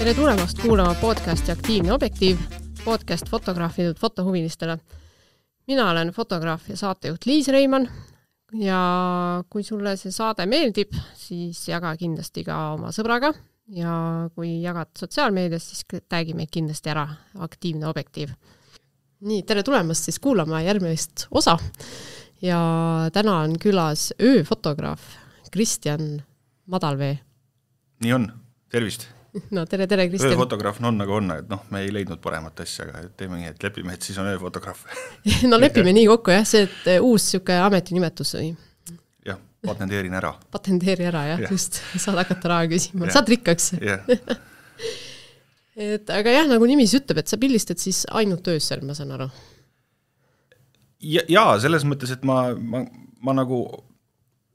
Tere tulemast kuulama podcasti Aktiivne objektiiv, podcast fotograafidelt fotohuvilistele. Mina olen fotograaf ja saatejuht Liis Reimann ja kui sulle see saade meeldib, siis jaga kindlasti ka oma sõbraga ja kui jagad sotsiaalmeedias, siis tagi meid kindlasti ära Aktiivne objektiiv. Nii, tere tulemast siis kuulama järgmist osa ja täna on külas ööfotograaf Kristjan Madalvee. Nii on, tervist! No tere Kristjan. Ööfotograaf on nagu on, et me ei leidnud paremat asja, aga teeme nii, et lepime, et siis on ööfotograaf. No lepime nii kokku, jah, see, et uus siuke ametinimetus või? Jah, patenteerin ära. Patenteeri ära, jah, just. Saad hakata raha küsima. Saad rikkaks. Aga jah, nagu nimis ütleb, et sa pildistad siis ainult öösel, ma saan aru. Jaa, selles mõttes, et ma nagu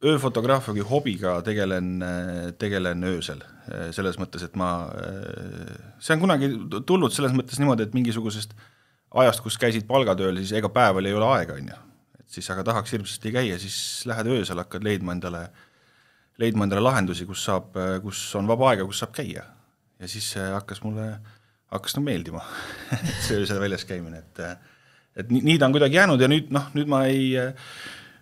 ööfotograafiagi hobiga tegelen öösel. Selles mõttes, et see on kunagi tulnud selles mõttes niimoodi, et mingisugusest ajast, kus käisid palgatööl, siis ega päeval ei ole aega, on ju. Et siis aga tahaks hirmsasti käia, siis lähed öösel, hakkad leidma endale lahendusi, kus on vaba aega, kus saab käia. Ja siis hakkas nagu meeldima, see öösel väljas käimine. Et nii ta on kuidagi jäänud ja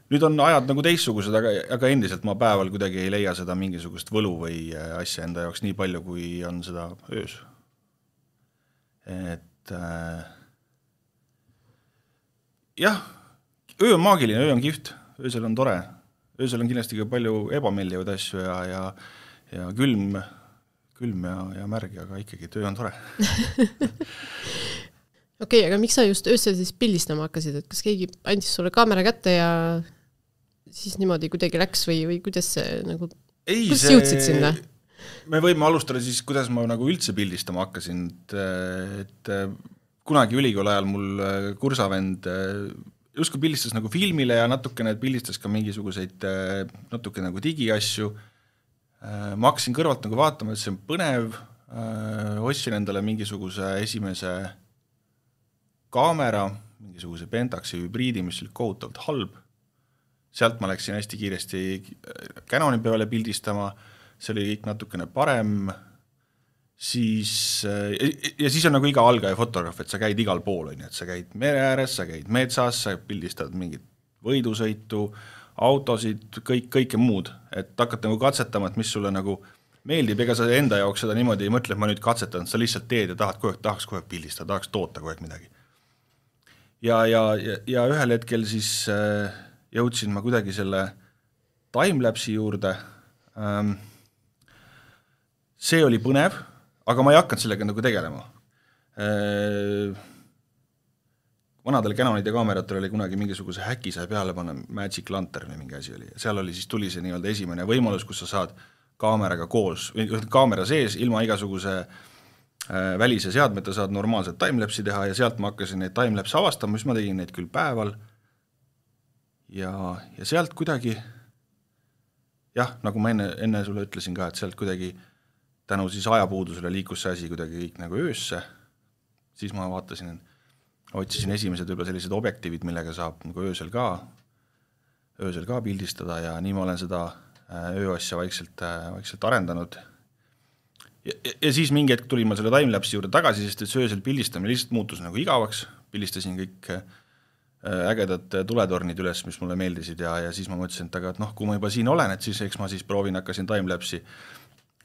nüüd on ajad nagu teissugused, aga endiselt ma päeval kuidagi ei leia seda mingisugust võlu või asja enda jaoks nii palju, kui on seda öös. Et jah, öö on maagiline, öö on kihvt, öösel on tore. Öösel on kindlasti ka palju ebameeldivaid asju ja külm ja märg, aga ikkagi öö on tore. Okei, aga miks sa just öösel siis pildistama hakkasid, et kas keegi andis sulle kaamera kätte ja siis niimoodi kuidagi läks või kuidas see nagu, kuidas jõudsid sinna? Me võime alustada siis, kuidas ma nagu üldse pildistama hakkasin, et kunagi ülikooli ajal mul kursavend justkui pildistas nagu filmile ja natukene pildistas ka mingisuguseid natuke nagu digiasju. Ma hakkasin kõrvalt nagu vaatama, et see on põnev, ostsin endale mingisuguse esimese kaamera, mingisuguse Pentaxi hübriidi, mis oli kohutavalt halb. Sealt ma läksin hästi kiiresti Canoni peale pildistama, see oli kõik natukene parem, siis on nagu iga algaja fotograaf, et sa käid igal pool, et sa käid mere ääres, sa käid metsas, sa pildistad mingit võidusõitu, autosid, kõike muud, et hakkad nagu katsetama, et mis sulle nagu meeldib, ega sa enda jaoks seda niimoodi ei mõtle, et ma nüüd katsetan, sa lihtsalt teed ja tahaks kogu aeg pildistada, tahaks toota kogu aeg midagi. Ja ühel hetkel siis jõudsin ma kuidagi selle timelapsi juurde. See oli põnev, aga ma ei hakanud sellega nagu tegelema. Vanadel Canonide kaameratel oli kunagi mingisuguse häki sai peale panna, Magic Lantern või mingi asi oli. Seal oli siis tuli see nii-öelda esimene võimalus, kus sa saad kaameraga koos, kaamera sees ilma igasuguse välise seadmeta saad normaalselt timelapsi teha ja sealt ma hakkasin neid timelapse avastama, mis ma tegin neid küll päeval. Ja sealt kuidagi, jah, nagu ma enne sulle ütlesin ka, et sealt kuidagi tänu siis ajapuudusele liikus see asi kuidagi kõik nagu öösse, siis ma otsisin esimesed võib-olla sellised objektiivid, millega saab nagu öösel ka pildistada ja nii ma olen seda ööasja vaikselt arendanud. Ja siis mingi hetk tulin ma selle timelapsi juurde tagasi, sest et see öösel pildistamine lihtsalt muutus nagu igavaks, pildistasin kõik ägedad tuletornid üles, mis mulle meeldisid ja siis ma mõtlesin, et kui ma juba siin olen, et siis eks ma siis proovin, hakkasin timelapsi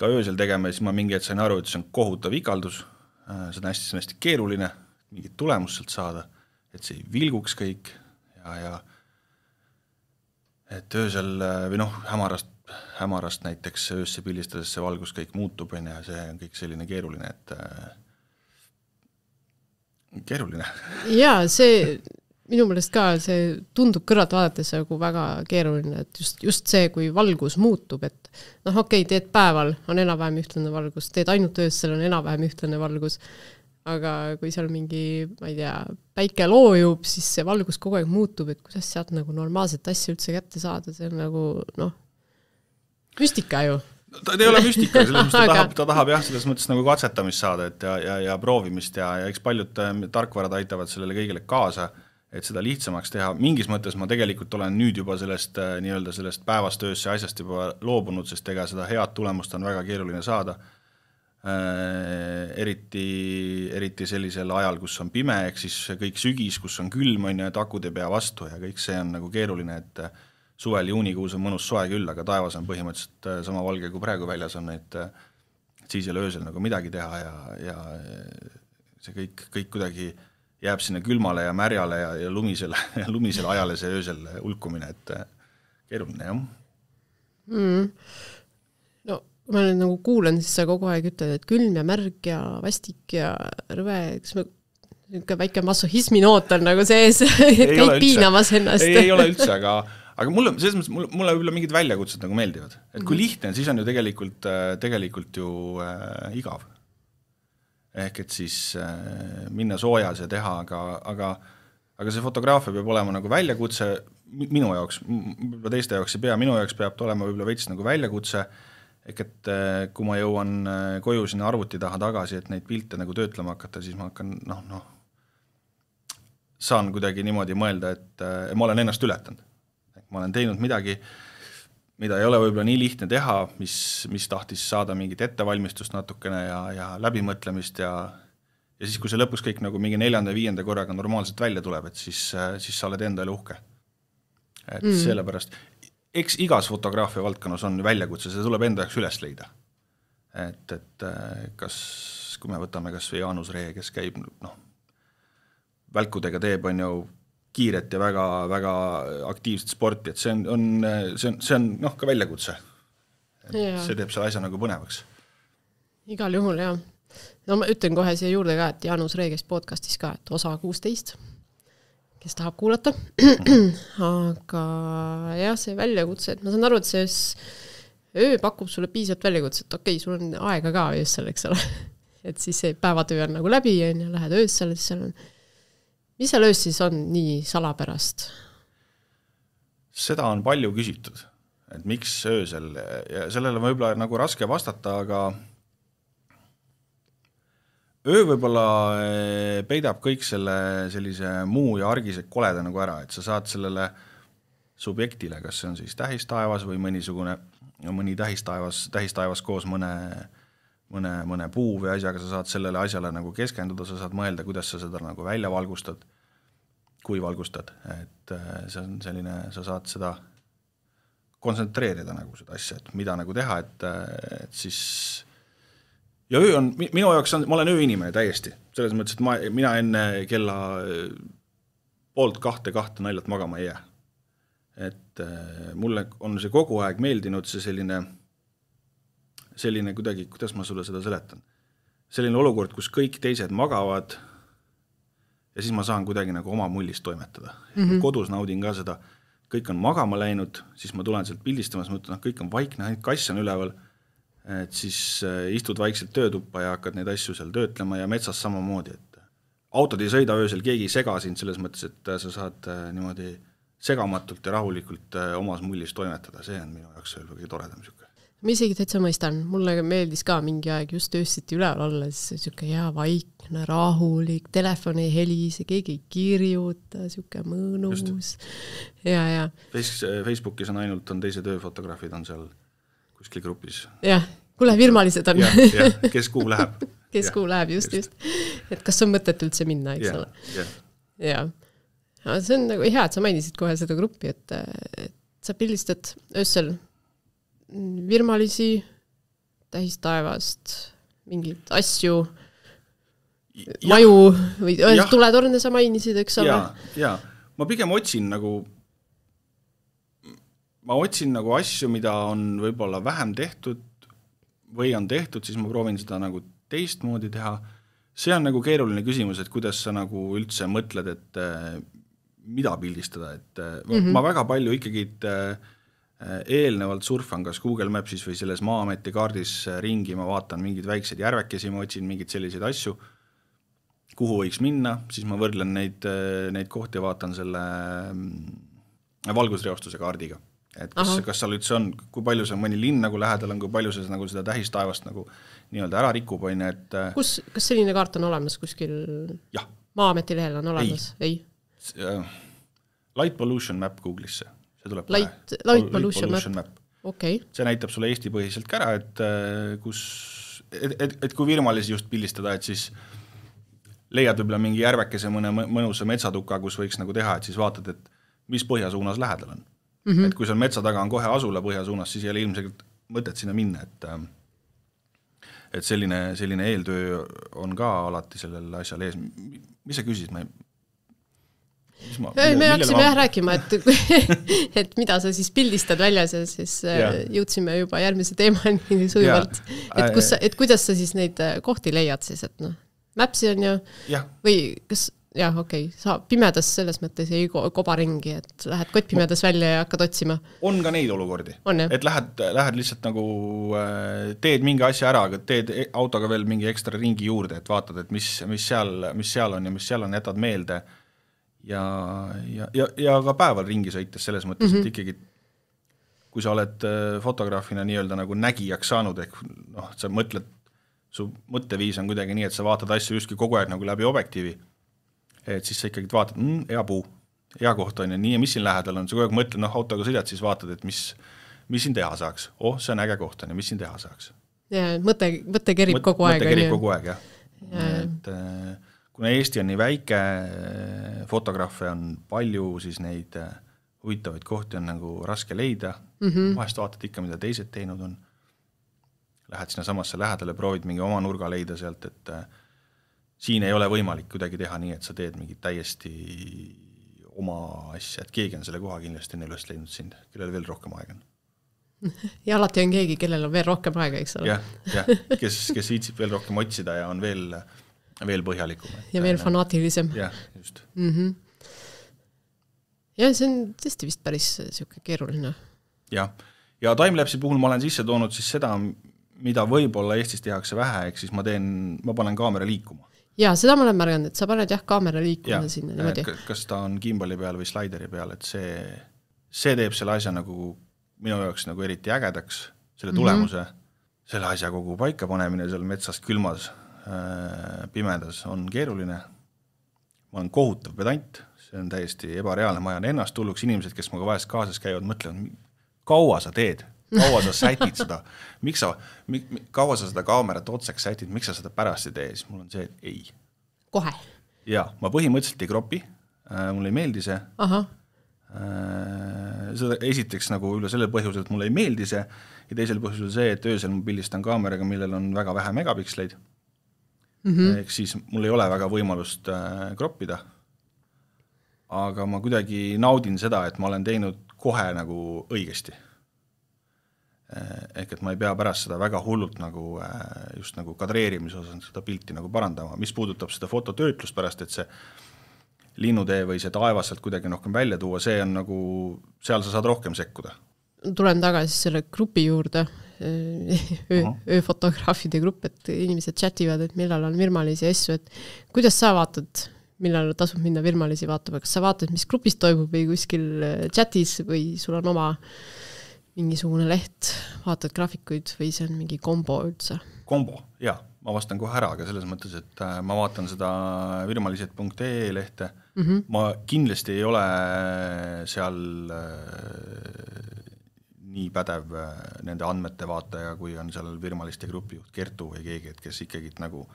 ka öösel tegema ja siis ma mingi hetk sain aru, et see on kohutav ikaldus, see on hästi keeruline, mingit tulemust sealt saada, et see ei vilguks kõik ja et öösel või hämarast näiteks öösse pildistades see valgus kõik muutub ja see on kõik selline keeruline, et keeruline. Jaa, see minu meelest ka see tundub kõrvalt vaadates nagu väga keeruline, et just see, kui valgus muutub, et okei, teed päeval, on enam-vähem ühtlane valgus, teed ainult öösel, on enam-vähem ühtlane valgus, aga kui seal mingi, ma ei tea, päike loojub, siis see valgus kogu aeg muutub, et kuidas sealt nagu normaalset asja üldse kätte saada, see on nagu, müstika ju. Ta ei ole müstika, ta tahab jah, selles mõttes nagu katsetamist saada ja proovimist ja eks paljud tarkvarad aitavad sellele kõigile kaasa, et seda lihtsamaks teha. Mingis mõttes ma tegelikult olen nüüd juba sellest päevast öösse asjast juba loobunud, sest ega seda head tulemust on väga keeruline saada. eriti sellisel ajal, kus on pime, ehk siis kõik sügis, kus on külm, on ju, et akud ei pea vastu ja kõik see on nagu keeruline, et suvel juunikuus on mõnus soe küll, aga taevas on põhimõtteliselt sama valge kui praegu väljas on, et siis ei ole öösel nagu midagi teha ja see kõik kuidagi jääb sinna külmale ja märjale ja lumisele ajale see öösel ulkumine, et keeruline, jah. No, kui ma nüüd nagu kuulen, siis sa kogu aeg ütled, et külm ja märg ja vastik ja rõve, kas me niisugune väike masohismi noot on nagu sees, et käid piinamas ennast. Ei ole üldse, aga mulle võib-olla mingid väljakutsed nagu meeldivad. Et kui lihtne, siis on ju tegelikult ju igav. Ehk et siis minna soojas ja teha, aga see fotograafia peab olema nagu väljakutse minu jaoks, võib-olla teiste jaoks ei pea, minu jaoks peab olema võib-olla veits nagu väljakutse, ehk et kui ma jõuan koju sinna arvuti taha tagasi, et neid pilte nagu töötlema hakata, siis ma hakkan, saan kuidagi niimoodi mõelda, et ma olen ennast ületanud. Ma olen teinud midagi, mida ei ole võib-olla nii lihtne teha, mis tahtis saada mingit ettevalmistust natukene ja läbimõtlemist ja siis, kui see lõpuks kõik nagu mingi 4.-5. korraga normaalselt välja tuleb, et siis sa oled endale uhke. Et sellepärast, eks igas fotograafia valdkonnas on väljakutse, see tuleb enda jaoks üles leida. Et kui me võtame kas või Jaanus Ree, kes käib välkudega teeb, on ju kiiret ja väga, väga aktiivset sporti, et see on ka väljakutse. See teeb selle asja nagu põnevaks. Igal juhul, jah. No ma ütlen kohe siia juurde ka, et Jaanus Reegest podcastis ka, et osa 16, kes tahab kuulata. Aga jah, see väljakutse, et ma saan aru, et see öö pakub sulle piisavalt väljakutse, et okei, sul on aega ka öössel, eks ole. Et siis see päevatöö on nagu läbi ja lähed öössel, siis seal on. Mis seal öös siis on nii salapärast? Seda on palju küsitud, et miks öösel ja sellele võib-olla nagu raske vastata, aga öö võib-olla peidab kõik sellise muu ja argise koleda nagu ära, et sa saad sellele subjektile, kas see on siis tähistaevas või mõni tähistaevas koos mõne puu või asjaga, sa saad sellele asjale nagu keskenduda, sa saad mõelda, kuidas sa seda nagu välja valgustad, kui valgustad, et see on selline, sa saad seda kontsentreerida nagu seda asja, et mida nagu teha, et siis ja öö on, minu jaoks ma olen ööinimene täiesti, selles mõttes, et mina enne kella 1:30 naljalt magama ei jää. Et mulle on see kogu aeg meeldinud see selline kuidagi, kuidas ma sulle seda seletan. Selline olukord, kus kõik teised magavad ja siis ma saan kuidagi nagu oma mullist toimetada. Kodus naudin ka seda, kõik on magama läinud, siis ma tulen sealt pildistamas, ma ütlen, kõik on vaikne, ainult kass on üleval, et siis istud vaikselt töötuppa ja hakkad neid asju seal töötlema ja metsas samamoodi, et autod ei sõida öösel, keegi ei sega sind selles mõttes, et sa saad niimoodi segamatult ja rahulikult omas mullis toimetada, see on minu jaoks kõige toredam siuke. Ma isegi täitsa mõistan, mulle meeldis ka mingi aeg just öösiti üleval olla, siis siuke hea vaikne, rahulik, telefoni ei helise, keegi ei kirjuta, siuke mõnus. Ja. Facebookis on ainult teised ööfotograafid on seal kuskil grupis. Jah, kuule virmalised on. Ja, kes kuhu läheb. Kes kuhu läheb, just. Et kas on mõtet üldse minna, eks ole? Ja. See on nagu hea, et sa mainisid kohe seda gruppi, et sa pildistad öösel virmalisi, tähistaevast, mingid asju, maju või tuletorne sa mainisid, eks ole? Ja, ma pigem otsin nagu asju, mida on võib-olla vähem tehtud või on tehtud, siis ma proovin seda nagu teistmoodi teha. See on nagu keeruline küsimus, et kuidas sa nagu üldse mõtled, et mida pildistada, et ma väga palju ikkagi eelnevalt surfan kas Google Mapsis või selles Maa-ameti kaardis ringi, ma vaatan mingid väiksed järvekesi, ma otsin mingid selliseid asju, kuhu võiks minna, siis ma võrdlen neid kohti ja vaatan selle valgusreostuse kaardiga. Et kas seal üldse on, kui palju see mõni linn nagu lähedal on, kui palju see nagu seda tähistaevast nagu nii-öelda ära rikub, on, et kas selline kaart on olemas kuskil? Jah. Maa-ameti lehel on olemas? Ei. Light Pollution Map Google'isse. See tuleb Light Pollution Map. Okay. See näitab sulle Eesti põhiselt ka ära, et kus et kui virmalisi just pildistada, et siis leiad võib-olla mingi järvekese mõne mõnusa metsatuka, kus võiks nagu teha, et siis vaatad, et mis põhjasuunas lähedal on. Et kui seal metsa taga on kohe asula põhjasuunas, siis ei ole ilmselt mõtet sinna minna, et selline eeltöö on ka alati sellel asjal ees. Mis sa küsid? Me haksime rääkima, et mida sa siis pildistad väljas ja siis jõudsime juba järgmise teemani sujuvalt. Et kuidas sa siis neid kohti leiad siis, et Mapsi on ju või kas sa pimedas selles mõttes ei kobaringi, et lähed kottpimedas välja ja hakkad otsima. On ka neid olukordi, et lähed lihtsalt nagu teed mingi asja ära, aga teed autoga veel mingi ekstra ringi juurde, et vaatad, et mis seal on ja mis seal on, jätad meelde ja ka päeval ringi sõites selles mõttes, et ikkagi kui sa oled fotograafina nii-öelda nagu nägijaks saanud, ehk sa mõtled, su mõtteviis on kuidagi nii, et sa vaatad asju justkui kogu aeg nagu läbi objektiivi, et siis sa ikkagi vaatad, hea puu, hea koht on ja nii ja mis siin lähedal on, sa kogu aeg mõtled, autoga sõidad, siis vaatad, et mis siin teha saaks. See on äge koht on ja mis siin teha saaks. Ja mõte kerib kogu aeg. Mõte kerib kogu aeg, jah. Et, kuna Eesti on nii väike, fotograafe on palju, siis neid huvitavaid kohti on nagu raske leida. Vahest vaatad ikka, mida teised teinud on. Lähed sinna samasse lähedale, proovid mingi oma nurga leida sealt, et siin ei ole võimalik kuidagi teha nii, et sa teed mingi täiesti oma asja, et keegi on selle koha kindlasti enne üles leidnud sind, kellel veel rohkem aega on. Ja alati on keegi, kellel on veel rohkem aega, eks ole. Jah, kes viitsib veel rohkem otsida ja on veel põhjalikum. Ja veel fanaatilisem. Jah, just. Ja see on tõesti vist päris selline keeruline. Ja timelapsi puhul ma olen sisse toonud siis seda, mida võib-olla Eestis tehakse vähe, ehk siis ma panen kaamera liikuma. Ja seda ma olen märganud, et sa paned kaamera liikuma sinna niimoodi. Kas ta on gimbali peal või slaideri peal, et see teeb selle asja nagu minu jaoks nagu eriti ägedaks, selle tulemuse, selle asja kogu paika panemine seal metsas külmas, pimedas on keeruline. Ma olen kohutav pedant, see on täiesti ebareaalne, ma ajan ennast hulluks, inimesed, kes muga vahest kaasas käivad, mõtlevad, kaua sa teed? Kaua sa sätid seda, kaua sa seda kaamerat otseks sätid, miks sa seda pärast ei tee, siis mul on see, et ei. Kohe? Ja, ma põhimõtteliselt ei kropi, mulle ei meeldi see. Seda esiteks nagu üle selle põhjusel, et mulle ei meeldi see ja teisel põhjusel see, et öösel ma pildistan kaameraga, millel on väga vähe megapiksleid. Ehk siis mul ei ole väga võimalust kroppida. Aga ma kuidagi naudin seda, et ma olen teinud kohe nagu õigesti. Ehk et ma ei pea pärast seda väga hullult nagu just nagu kadreerimise osas seda pilti nagu parandama, mis puudutab seda fototöötlust pärast, et see linnutee või see taevas sealt kuidagi rohkem välja tuua, see on nagu, seal sa saad rohkem sekkuda. Tulen tagasi selle grupi juurde, ööfotograafide grupp, et inimesed chativad, et millal on virmalisi asju, et kuidas sa vaatad, millal tasub minna virmalisi vaatama, kas sa vaatad, mis grupis toimub või kuskil chatis või sul on oma mingisugune leht, vaatad graafikuid või see on mingi kombo üldse? Kombo, jah, ma vastan kohe ära, aga selles mõttes, et ma vaatan seda virmalised.ee lehte. Ma kindlasti ei ole seal nii pädev nende andmete vaataja, kui on seal virmaliste grupijuht Kertu või keegi, et kes ikkagi nagu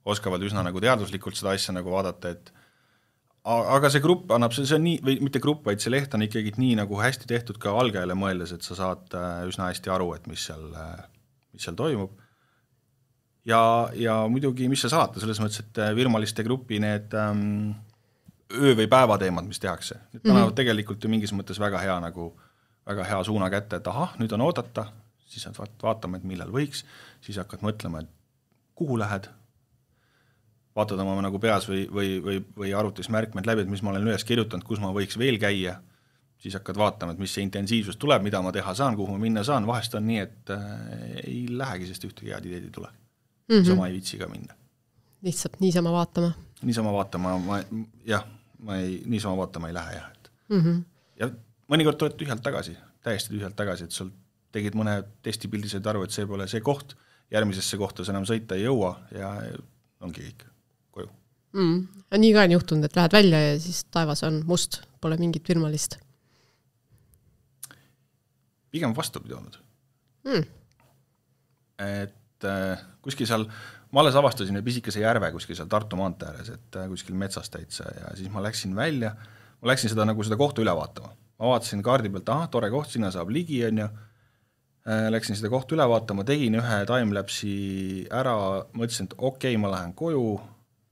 oskavad üsna nagu teaduslikult seda asja nagu vaadata, et aga see grupp annab, see on nii, või mitte grupp, vaid see leht on ikkagi nii nagu hästi tehtud ka algajale mõeldes, et sa saad üsna hästi aru, et mis seal toimub. Ja muidugi, mis see salata, selles mõttes, et virmaliste grupi need öö- või päevateemad, mis tehakse, need panevad tegelikult ju mingis mõttes väga hea suuna kätte, et nüüd on oodata, siis vaatame, et millal võiks, siis hakkad mõtlema, et kuhu lähed, vaatad oma nagu peas või arvutis märkmed läbi, et mis ma olen üles kirjutanud, kus ma võiks veel käia, siis hakkad vaatama, et mis see intensiivsus tuleb, mida ma teha saan, kuhu ma minna saan, vahest on nii, et ei lähegi, sest ühtegi head ideed ei tule. Sama ei viitsi ka minna. Lihtsalt niisama vaatama? Niisama vaatama ei lähe, jah. Ja mõnikord tuled tühjalt tagasi, täiesti tühjalt tagasi, et sul tegid mõne testipildised aru, et see pole see koht, järgmisesse kohta sa enam sõita ei jõua ja ongi kõik koju. Nii ka on juhtunud, et lähed välja ja siis taevas on must, pole mingit virmalist. Pigem vastupidi olnud. Et et kuskil seal, ma alles avastasin pisikese järve kuskil seal Tartu maantee ääres, et kuskil metsas täitsa ja siis ma läksin välja, ma läksin seda kohta üle vaatama. Ma vaatasin kaardi pealt, tore koht, sinna saab ligi, on ju. Läksin seda kohta üle vaatama, tegin ühe timelapsi ära, mõtlesin, et okei, ma lähen koju,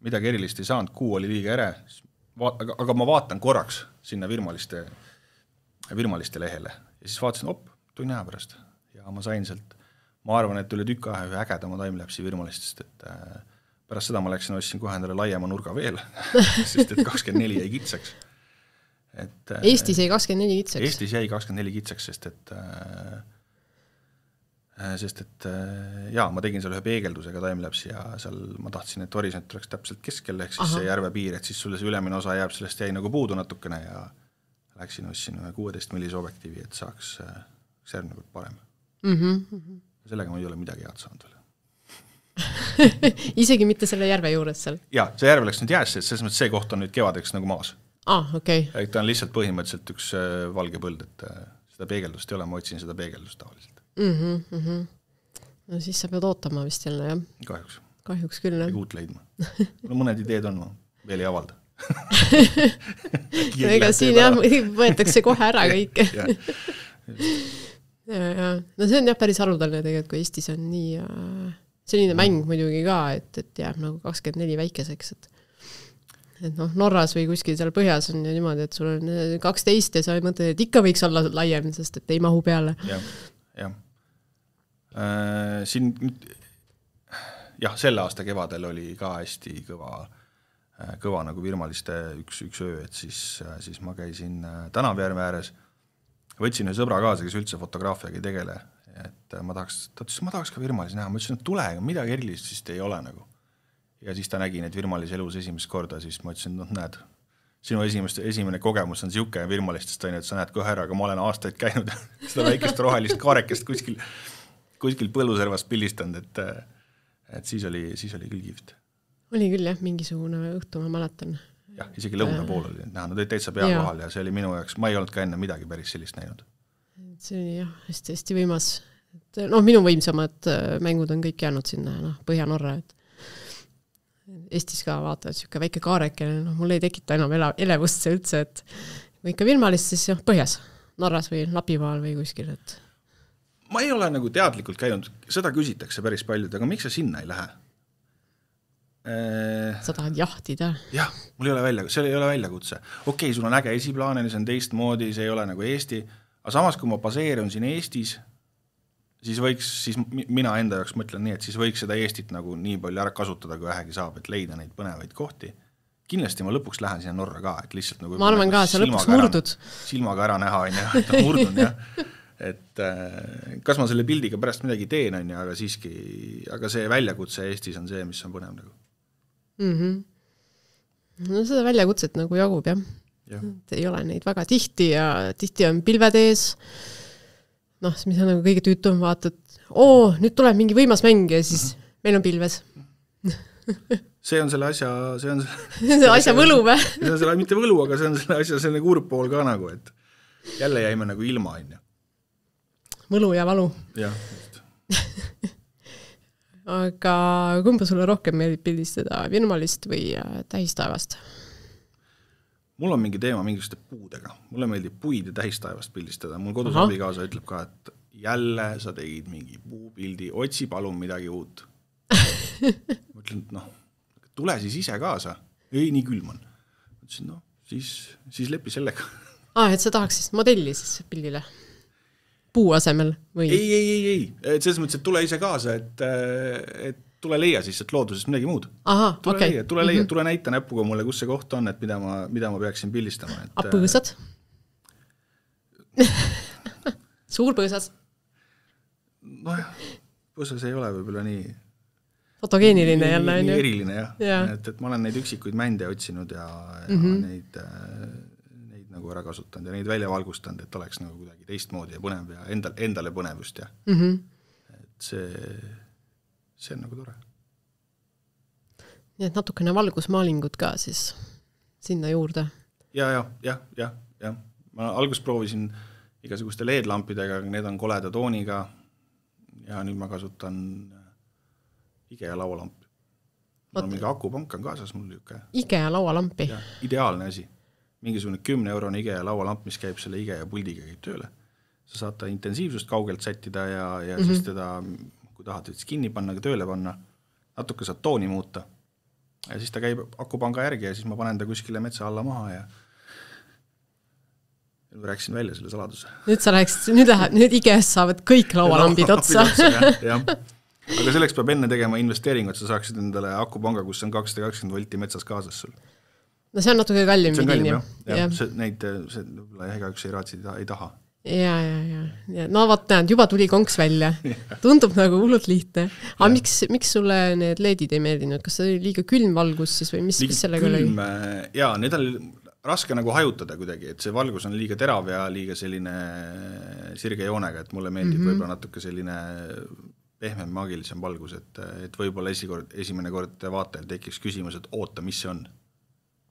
midagi erilist ei saanud, kuu oli liiga ere, aga ma vaatan korraks sinna virmaliste lehele ja siis vaatasin, tunni aja pärast ja ma sain sealt, ma arvan, et üle tükk aja ühe ägedama timelapsi virmalistest, et pärast seda ma läksin, ostsin kohe endale laiema nurga veel, sest et 24 jäi kitsaks. Et, Eestis jäi 24 kitsaks? Eestis jäi 24 kitsaks, sest et jaa, ma tegin seal ühe peegeldusega timelapsi ja seal ma tahtsin, et horisont oleks täpselt keskel, ehk siis see järve piir, et siis sulle see ülemine osa jääb, sellest jäi nagu puudu natukene ja läksin ostsin ühe 16 millise objektiivi, et saaks järgmine kord parem. Sellega ma ei ole midagi head saanud veel. Isegi mitte selle järve juures seal? Jaa, see järve läks nüüd jäässe, et selles mõttes see koht on nüüd kevadeks nagu maas. Okay. Ta on lihtsalt põhimõtteliselt üks valge põld, et seda peegeldust ei ole, ma otsin seda peegeldust tavaliselt. No siis sa pead ootama vist jälle, jah? Kahjuks küll, jah. Uut leidma. Mõned ideed on, ma veel ei avalda. Ega siin jah, võetakse kohe ära kõik. No see on jah päris harudaline tegelikult, kui Eestis on nii selline mäng muidugi ka, et jääb nagu 24 väikeseks, et Norras või kuskil seal põhjas on ju niimoodi, et sul on 12 ja sa mõtled, et ikka võiks olla laiem, sest et ei mahu peale. Jah. Siin selle aasta kevadel oli ka hästi kõva nagu virmaliste üks öö, et siis ma käisin Tänavjärve ääres, võtsin ühe sõbra kaasa, kes üldse fotograafiaga ei tegele, et ma tahaks ka virmalisi näha, ma ütlesin, et tule, midagi erilist siis ei ole nagu. Ja siis ta nägi neid virmalisi elus esimest korda, siis ma ütlesin, näed, sinu esimene kogemus on siuke virmalistest, et sa näed kohe ära, aga ma olen aastaid käinud seda väikest rohelist kaarekest kuskil põlluservast pildistanud, et siis oli küll kihvt. Oli küll jah, mingisugune õhtu ma mäletan. Jah, isegi lõuna pool oli näha, nad olid täitsa pea kohal ja see oli minu jaoks, ma ei olnud ka enne midagi päris sellist näinud. See oli jah, hästi võimas. Minu võimsamad mängud on kõik jäänud sinna Põhja-Norra, et Eestis ka vaatavad siuke väike kaarekene, mul ei tekita enam elevust see üldse, et kui ikka virmalist, siis põhjas, Norras või Lapimaal või kuskil, et ma ei ole nagu teadlikult käinud, seda küsitakse päris paljud, aga miks sa sinna ei lähe? Sa tahad jahtida? Jah, seal ei ole väljakutse. Okei, sul on äge esiplaanene, see on teistmoodi, see ei ole nagu Eesti, aga samas kui ma baseerun siin Eestis, siis mina enda jaoks mõtlen nii, et siis võiks seda Eestit nagu nii palju ära kasutada, kui vähegi saab, et leida neid põnevaid kohti. Kindlasti ma lõpuks lähen sinna Norra ka, et lihtsalt nagu ma arvan ka, sa lõpuks murdud. Silmaga ära näha, et murdun, jah. Et kas ma selle pildiga pärast midagi teen, on ja, aga see väljakutse Eestis on see, mis on põnev nagu. No seda väljakutset nagu jagub, jah. Ei ole neid väga tihti ja tihti on pilved ees. Mis on nagu kõige tüütum, vaatad, nüüd tuleb mingi võimas mäng ja siis meil on pilves. See on selle asja... See on asja võlu või? See on selle, mitte võlu, aga see on selle asja selline kurb pool ka nagu, et jälle jäime nagu ilma, on ju. Võlu ja valu. Jah. Aga kumba sulle rohkem meeldib pildistada, virmalist või tähistaevast? Mul on mingi teema mingisuguste puudega. Mulle meeldib puid ja tähistaevast pildistada. Mul kodus abikaasa ütleb ka, et jälle sa tegid mingi puupildi, otsi palun midagi uut. Ma ütlen, et tule siis ise kaasa. Ei, nii külm on. Ma ütlesin, siis lepi sellega. Et sa tahaks siis modelli siis pildile? Puu asemel? Või? Ei. Et selles mõttes, et tule ise kaasa, et tule leia siis, et loodusest midagi muud. Tule leia, tule näita näpuga mulle, kus see koht on, et mida ma peaksin pildistama. Põõsad? Suur põõsas? Põõsas ei ole võib-olla nii fotogeeniline jälle. Nii eriline, jah. Et ma olen neid üksikuid mände otsinud ja neid nagu ära kasutanud ja neid välja valgustanud, et oleks nagu kuidagi teistmoodi ja põnev ja endale põnevust. Et see on nagu tore. Nii et natukene valgusmaalingud ka siis sinna juurde. Ja. Ma alguses proovisin igasuguste LED-lampidega, aga need on koleda tooniga ja nüüd ma kasutan IKEA laualamp. No, mingi akupank on kaasas mul niisugune. IKEA laualampi? Ideaalne asi. Mingisugune 10 eurone IKEA laualamp, mis käib selle IKEA puldiga käib tööle. Sa saad ta intensiivsust kaugelt sättida ja siis teda, kui tahad kinni panna, tööle panna, natuke saad tooni muuta. Ja siis ta käib akupanga järgi ja siis ma panen ta kuskile metsa alla maha ja rääkisin välja selle saladuse. Nüüd IKEA-st saavad kõik laualambid otsa. jah. Aga selleks peab enne tegema investeeringu, et sa saaksid endale akupanga, kus on 220 volti metsas kaasas sul. No see on natuke kallim. See on kallim, jah. Neid ega üks ei raatsi ei taha. Ja. No vaat näed, juba tuli konks välja. Tundub nagu hullult lihtne. Aga miks sulle need LED-id ei meeldinud? Kas see oli liiga külm valgus siis või mis sellega oli? Jaa, need oli raske nagu hajutada kuidagi, et see valgus on liiga terav ja liiga selline sirge joonega, et mulle meeldib võib-olla natuke selline pehmem, maagilisem valgus, et võib-olla esimene kord vaatajal tekiks küsimus, et oota, mis see on?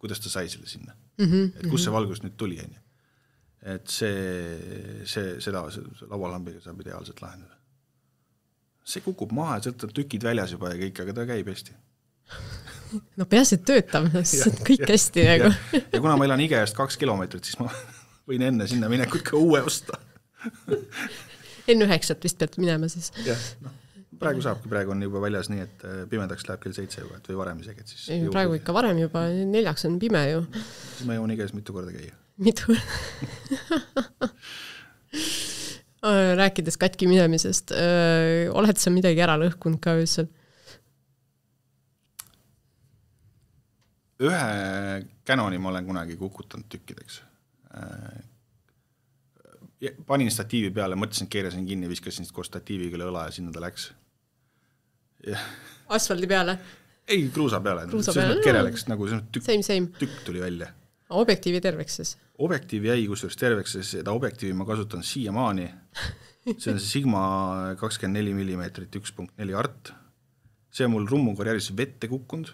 Kuidas ta sai selle sinna? Et kus see valgus nüüd tuli? Et seda laualambiga saab ideaalselt lahendada. See kukub maha ja sealt on tükid väljas juba ja kõik, aga ta käib hästi. No peaasi töötab, see on kõik hästi nagu. Ja kuna ma elan IKEA-st 2 kilomeetrit, siis ma võin enne sinna minekut ka uue osta. Enne 9 vist pead minema siis. Jah, praegu saabki, praegu on juba väljas nii, et pimedaks läheb kell 7 juba, et või varem isegi. Praegu ikka varem juba, 4 on pime ju. Siis ma jõuan IKEA-s mitu korda käia. Mitu? Rääkides katki minemisest, oled sa midagi ära lõhkunud ka öösel? Ühe Canoni ma olen kunagi kukutanud tükkideks. Panin statiivi peale, mõtlesin, keerasin kinni, viskasin koos statiiviga õla ja sinna ta läks. Asfaldi peale? Ei, kruusa peale. Kereleks, nagu tükk tuli välja. Objektiivi terveks siis? Objektiivi jäi kusjuures terveks, seda objektiivi ma kasutan siiamaani. See on see Sigma 24 mm 1.4 art. See on mul rummukarjääris vette kukkunud.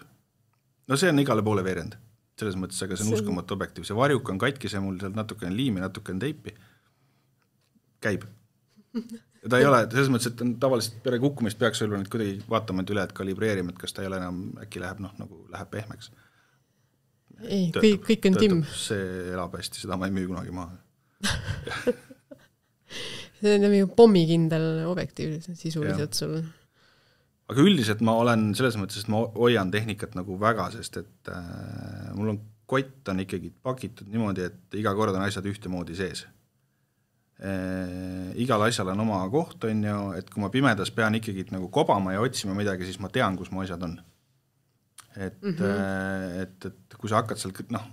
No see on igale poole veerend. Selles mõttes, aga see on uskumatu objektiiv. See varjuk on katki, see mul seal natuke on liimi, natuke on teipi. Käib. Ja ta ei ole, selles mõttes, et tavaliselt pere kukkumist peaks olla nüüd kuidagi vaatama üle, et kalibreerima, et kas ta ei ole enam, äkki läheb, nagu läheb pehmeks. Ei, kõik on timm. See elab hästi, seda ma ei müü kunagi maha. See on nagu pommikindel objektiiv sisuliselt sul. Aga üldiselt ma olen selles mõttes, et ma hoian tehnikat nagu väga, sest et mul on kott on ikkagi pakitud niimoodi, et iga kord on asjad ühte moodi sees. Igal asjal on oma koht, on ju, et kui ma pimedas pean ikkagi nagu kobama ja otsima midagi, siis ma tean, kus mu asjad on. Et kui sa hakkad seal, noh.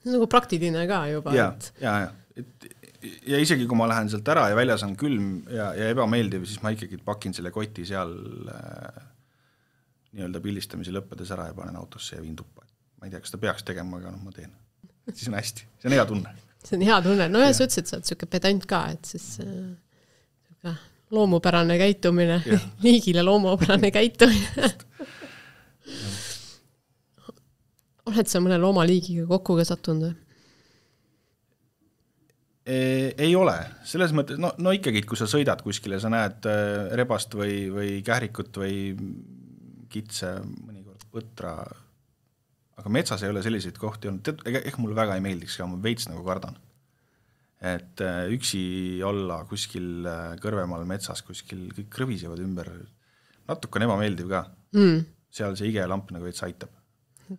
Nagu praktiline ka juba. Ja isegi kui ma lähen sealt ära ja väljas on külm ja ebameeldiv, siis ma ikkagi pakin selle koti seal nii-öelda pildistamise lõppedes ära ja panen autosse ja viin tuppa. Ma ei tea, kas ta peaks tegema, aga ma teen. Siis on hästi. See on hea tunne. See on hea tunne. No ja sa ütlesid, sa oled selline pedant ka, et siis loomupärane käitumine, liigile loomupärane käitumine. Oled sa mõne loomaliigiga kokku ka sattunud? Ei ole. Selles mõttes, no ikkagi, kui sa sõidad kuskile, sa näed rebast või kährikut või kitse, mõnikord põtra, aga metsas ei ole selliseid kohti olnud. Ehk mulle väga ei meeldiks ka, ma veits nagu kardan. Et üksi olla kuskil kõrvemaal metsas, kuskil kõik krõvisevad ümber. Natuke on ebameeldiv ka. Seal see IKEA lamp nagu veits aitab.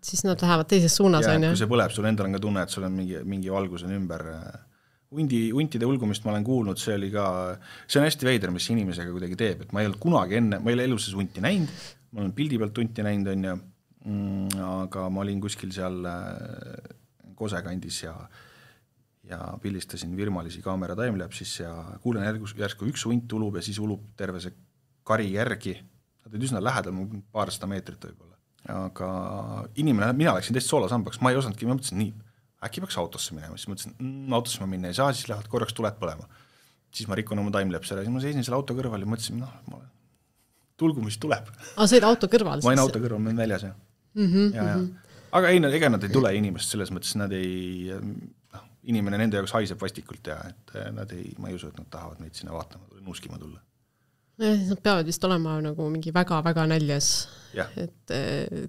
Siis nad lähevad teises suunas. Ja kui see põleb, sul endal on ka tunne, et sul on mingi valgus on ümber. Huntide ulgumist ma olen kuulnud, see on hästi veider, mis inimesega kuidagi teeb, et ma ei olnud kunagi enne, ma ei ole eluses hunti näinud, ma olen pildi pealt hunti näinud, on ju, aga ma olin kuskil seal Kosekandis ja pildistasin virmalisi kaamera timelapsis ja kuulen järsku üks hunt ulub ja siis ulub terve see kari järgi, nad olid üsna lähedal, paarsada meetrit võib-olla, aga inimene, mina läksin teist soolasambaks, ma ei osanudki, ma mõtlesin nii, äkki peaks autosse minema, siis mõtlesin, autosse ma minna ei saa, siis lähevad korraks tuled põlema. Siis ma rikun oma timelapse ära, siis ma seisin selle auto kõrval ja mõtlesin, tulgu, mis tuleb. Aga sa olid auto kõrval? Ma olin auto kõrval, ma olin väljas, Aga ei, ega nad ei tule inimest, selles mõttes nad ei, inimene nende jaoks haiseb vastikult ja et nad ei, ma ei usu, et nad tahavad meid sinna vaatama, nuuskima tulla. Nad peavad vist olema nagu mingi väga-väga näljas, et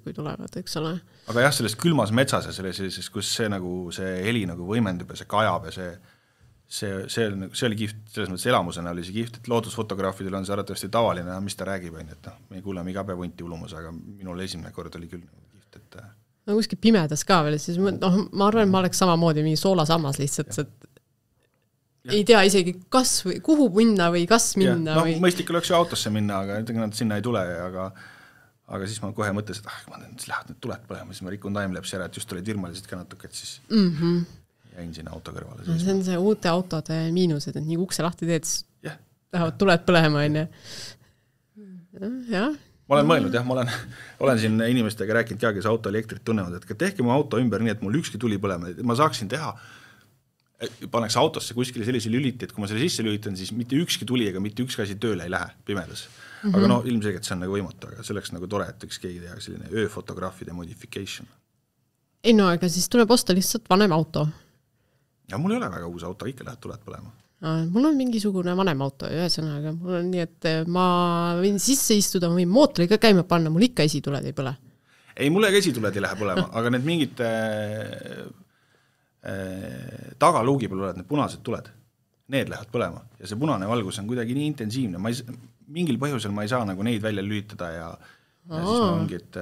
kui tulevad, eks ole. Aga jah, selles külmas metsas ja selles, kus see, nagu, see heli nagu võimendub ja see kajab ja see oli kiht, selles mõttes elamusena oli see kiht, et loodusfotograafidel on see arvatavasti tavaline, mis ta räägib, et me ei kuule mingi habevunti ulumus, aga minul esimene kord oli küll kiht, et no kuskil pimedas ka veel, siis ma arvan, et ma oleks samamoodi mingi soolasammas lihtsalt, et ei tea isegi kas või kuhu minna või kas minna. No, mõistlik oleks ju autosse minna, aga nad sinna ei tule, aga siis ma kohe mõtlesin, et ma lähed need tuled põlema, siis ma rikun timelapse ära, et just olid virmalised ka natuke, et siis jäin sinna auto kõrvale. See on see uute autode miinused, et nii ukse lahti teed, siis lähevad tuled põlema, on ja. Ma olen mõelnud, ma olen siin inimestega rääkinud ka, kes auto elektrit tunnevad, et tehke mu auto ümber nii, et mul ükski tuli põlema, et ma saaksin teha paneks autosse kuskile sellise lüliti, et kui ma selle sisse lülitan, siis mitte ükski tuli ega mitte ükski asi tööle ei lähe pimedas. Aga no ilmselgelt see on nagu võimatu, aga selleks nagu tore, et üks keegi teha selline ööfotograafide modification. Ei no, aga siis tuleb osta lihtsalt vanem auto. Ja mul ei ole väga uus auto, ikka lähed tuled põlema. Mul on mingisugune vanem auto, ühesõnaga. Mul on nii, et ma võin sisse istuda, ma võin mootori ka käima panna, mul ikka esituled ei põle. Ei, mulle ka esituled ei lähe põlema, aga need mingid tagaluugi peal oled need punased tuled, need lähevad põlema ja see punane valgus on kuidagi nii intensiivne, mingil põhjusel ma ei saa nagu neid välja lülitada ja siis ma ongi, et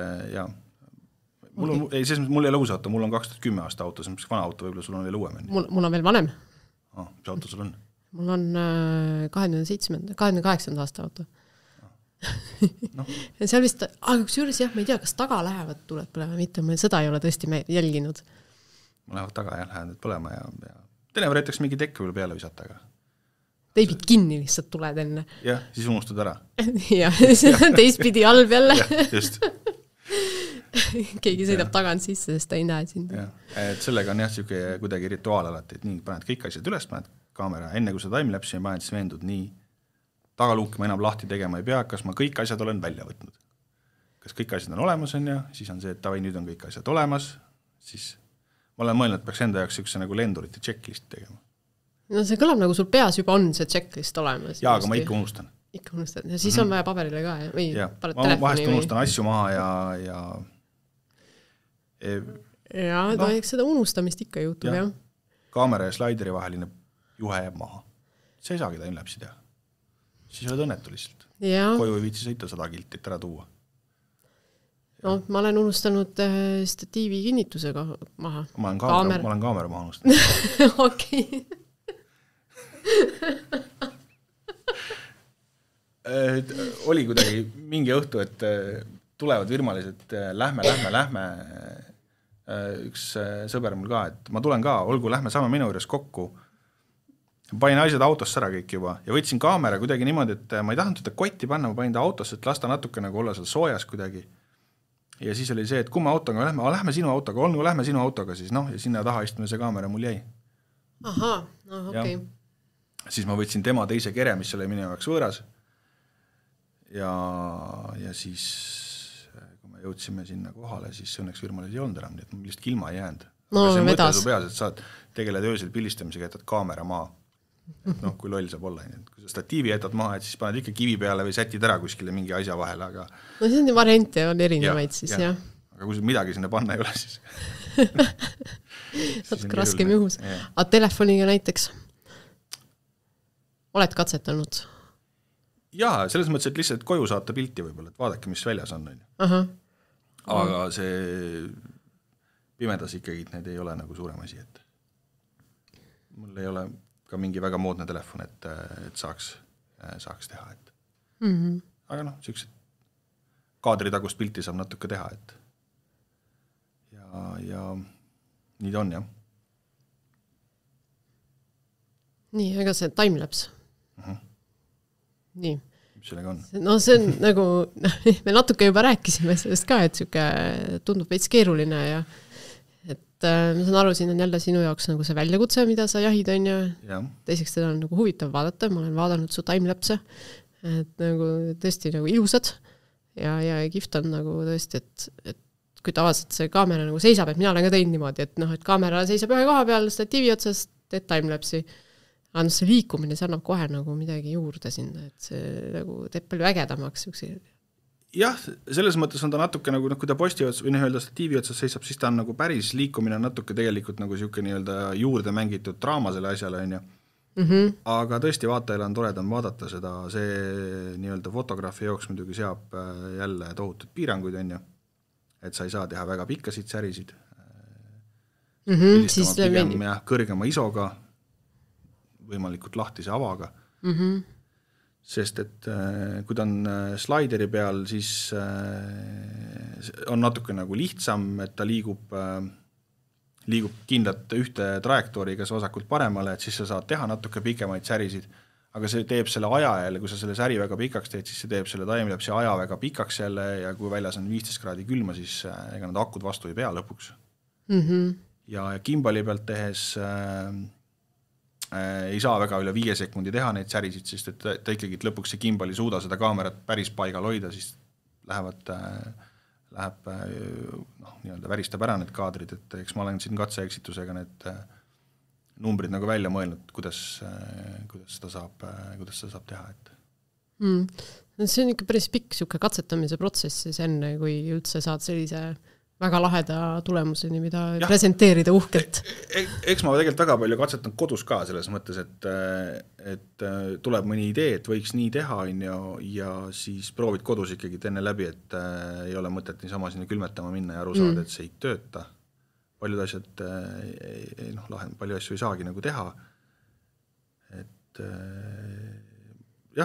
mul ei ole uus auto, mul on 2010 aasta auto, see on vana auto, võib-olla sul on veel uuem. Mul on veel vanem. Mis auto sul on? Mul on 28. aasta auto. No. Ja seal vist, aga kus juures jah, ma ei tea, kas taga lähevad tuled põlema, mitte ma seda ei ole tõesti jälginud. Ma lähevad taga ja lähevad põlema ja teine võretaks mingi tekk võib peale visata. Aga teibid kinni lihtsalt tuled enne. Jah, siis unustad ära. Ja, teistpidi halb jälle. Ja, just. Keegi sõidab tagant sisse, sest ta ei näe sind. Ja, et sellega on jah siuke kuidagi rituaal alati, et nii paned kõik asjad üles, paned kaamera, enne kui sa timelapsi paned, siis veendud nii tagaluuki ma enam lahti tegema ei pea, kas ma kõik asjad olen välja võtnud. Kas kõik asjad on olemas on ja siis on see, et tavai, nüüd on kõik asjad olemas, siis ma olen mõelnud, et peaks enda jaoks üks nagu lendurite checklist tegema. No see kõlab nagu sul peas juba on see checklist olemas. Jaa, aga ma ikka unustan. Ikka unustan. Ja siis on vaja paberile ka. Või ma vahest unustan asju maha ja eks seda unustamist ikka juhtub, jah. Kaamera ja slaideri vaheline juhe jääb maha. See ei saagi timelapsi teha. Siis oled õnnetu lihtsalt. Koju ei viitsi sõita 100 kiltit ära tuua. No, ma olen unustanud statiivi kinnitusega maha. Ma olen kaamera maha unustanud. Okei. Oli kuidagi mingi õhtu, et tulevad virmalised, lähme. Üks sõber mul ka, et ma tulen ka, olgu, lähme saame minu juures kokku. Panin asjad autosse ära kõik juba ja võtsin kaamera kuidagi niimoodi, et ma ei tahtnud seda kotti panna, ma panin ta autosse, et lasta natuke nagu olla seal soojas kuidagi. Ja siis oli see, et kui me autoga lähme sinu autoga, lähme sinu autoga, siis ja sinna taha istme see kaamera mul jäi. Aha, okei. Siis ma võtsin tema teise kere, mis oli minu jaoks võõras. Ja siis, kui me jõudsime sinna kohale, siis õnneks virmalised ei olnud enam, nii et ma lihtsalt ilma ei jäänud. No, see mõte vedas. su peas, et saad tegeled öösel pilistamisega, jätad kaamera maa. Et kui loll saab olla. Kui sa statiivi jätad maha, et siis paned ikka kivi peale või sätid ära kuskile mingi asja vahele, aga no see on variante, on erinevaid siis, jah. Aga kui midagi sinna panna ei ole, siis natuke raskem juhus. Aga telefoniga näiteks oled katsetanud? Jaa, selles mõttes, et lihtsalt koju saata pilti võib-olla, et vaadake, mis väljas on. Aga see pimedas ikkagi need ei ole nagu suurem asi, et mul ei ole ka mingi väga moodne telefon, et saaks teha. Et. Aga sellised kaadritagust pilti saab natuke teha, et ja nii ta on, jah. Nii, ega see timelapse. Nii. Mis sellega on? No see on nagu, me natuke juba rääkisime sellest ka, et siuke tundub veits keeruline ja ma saan aru, siin on jälle sinu jaoks nagu see väljakutse, mida sa jahid on ja teiseks seda on nagu huvitav vaadata, ma olen vaadanud su timelapse, et nagu tõesti nagu ilusad ja kihvt on nagu tõesti, et kui tavaliselt see kaamera nagu seisab, et mina olen ka teinud niimoodi, et kaamera seisab ühe koha peal statiivi otsast, teed timelapsi, Aga see liikumine, see annab kohe nagu midagi juurde sinna, et see nagu teeb palju ägedamaks. Jah, selles mõttes on ta natuke nagu, kui ta posti otsas või öelda statiivi otsas seisab, siis ta on nagu päris liikumine natuke tegelikult nagu siuke nii-öelda juurde mängitud draama selle asjale, on ju. Aga tõesti vaatajale on toredam vaadata seda, see nii-öelda fotograafi jooks muidugi seab jälle tohutud piiranguid, on ju, et sa ei saa teha väga pikkasid särisid, siis pigem kõrgema isoga, võimalikult lahtise avaga, sest et kui ta on slaideri peal, siis on natuke nagu lihtsam, et ta liigub kindlat ühte trajektoori kas vasakult paremale, et siis sa saad teha natuke pikemaid särisid, aga see teeb selle aja jälle, kui sa selle säri väga pikaks teed, siis see teeb selle timelapse aja väga pikaks jälle ja kui väljas on 15 kraadi külma, siis ega need akud vastu ei pea lõpuks. Ja gimbali pealt tehes ei saa väga üle 5 sekundi teha neid särisid, sest et ta ikkagi lõpuks see gimbal ei suuda seda kaamerat päris paigal hoida, siis läheb nii-öelda väristab ära need kaadrid, et eks ma olen siin katseeksitusega need numbrid nagu välja mõelnud, kuidas seda saab teha. See on ikka päris pikk siuke katsetamise protsess siis enne, kui üldse saad sellise väga laheda tulemuseni, mida presenteerida uhkelt. Eks ma tegelikult väga palju katsetan kodus ka selles mõttes, et tuleb mõni idee, et võiks nii teha ja siis proovid kodus ikkagi enne läbi, et ei ole mõtet niisama sinna külmetama minna ja aru saada, et see ei tööta. Paljud asjad, palju asju ei saagi nagu teha. Et